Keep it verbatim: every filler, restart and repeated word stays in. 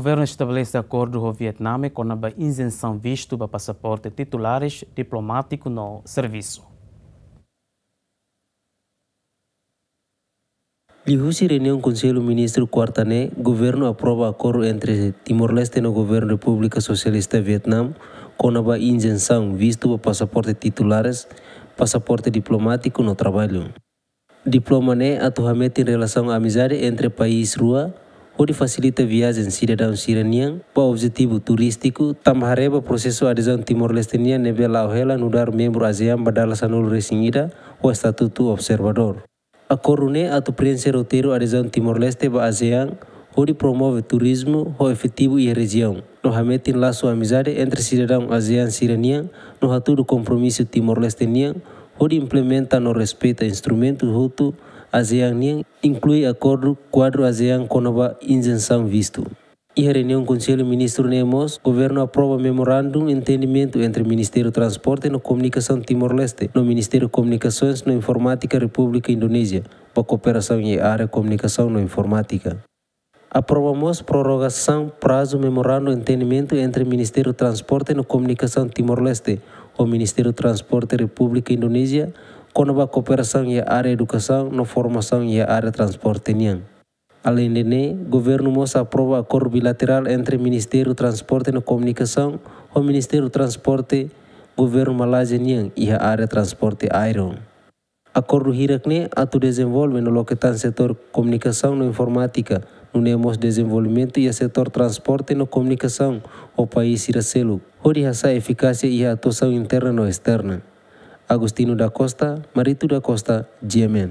Governu estabelese akordu ho Vietname kona-ba izensaun vistu ba pasaporte titulares, diplomátiku no servisu. Liuhusi reuniaun Konsellu Ministru kuarta ne'e, governu aprova akordu entre Timor-Leste no governu Repúblika Sosialista Vietname kona-ba izensaun vistu ba pasaporte titulares, pasaporte diplomátiku no traballu. Diploma ne'e atu hametin relasaun amizade entre país rua, hodi fasilita viajen sidadaun sira-nian ba objetivu turístiku, tanba haree ba prosesu adezaun Timor-Leste nian ne'ebé la'o hela nu'udar membru ASEAN ba dala sanulu-resin-ida ho estatutu observadór. Akordu ne'e atu preenxe roteiru adezaun Timor-Leste ba ASEAN, hodi promove turizmu ho efetivu iha rejiaun, no hametin lasu amizade entre sidadaun ASEAN sira-nian, no hatudu kompromisu Timor-Leste nian hodi implementa no respeita instrumentu hotu ASEAN nian, inklui akordu kuadru ASEAN kona-ba izensaun vistu. Iha reuniaun Konsellu Ministru ne'e mós, governu aprova memorandum entendimentu entre Ministériu Transporte no Komunikasaun Timor-Leste no Ministériu Komunikasoens no Informátika Repúblika Indonézia ba kooperasaun iha área komunikasaun no informátika. Aprova mós prorrogasaun prazu memorandum entendimentu entre Ministériu Transporte no Komunikasaun Timor-Leste ho Ministériu Transporte Repúblika Indonézia kona-ba kooperasaun iha área edukasaun no formasaun iha área transporte nian. Aleinde ne'e, governu mós aprova akordu bilaterál entre Ministériu Transporte no Komunikasaun ho Ministériu Transporte governu Malázia nian iha área transporte aéreu. Akordu hirak ne'e atu dezenvolve no loke tan setór komunikasaun no informátika, nune'e mós dezenvolvimentu iha setór transporte no komunikasaun ho país sira seluk, hodi hasa'e efikásia iha atuasaun interna no esterna. Agostinho da Costa, Marito da Costa, G M N.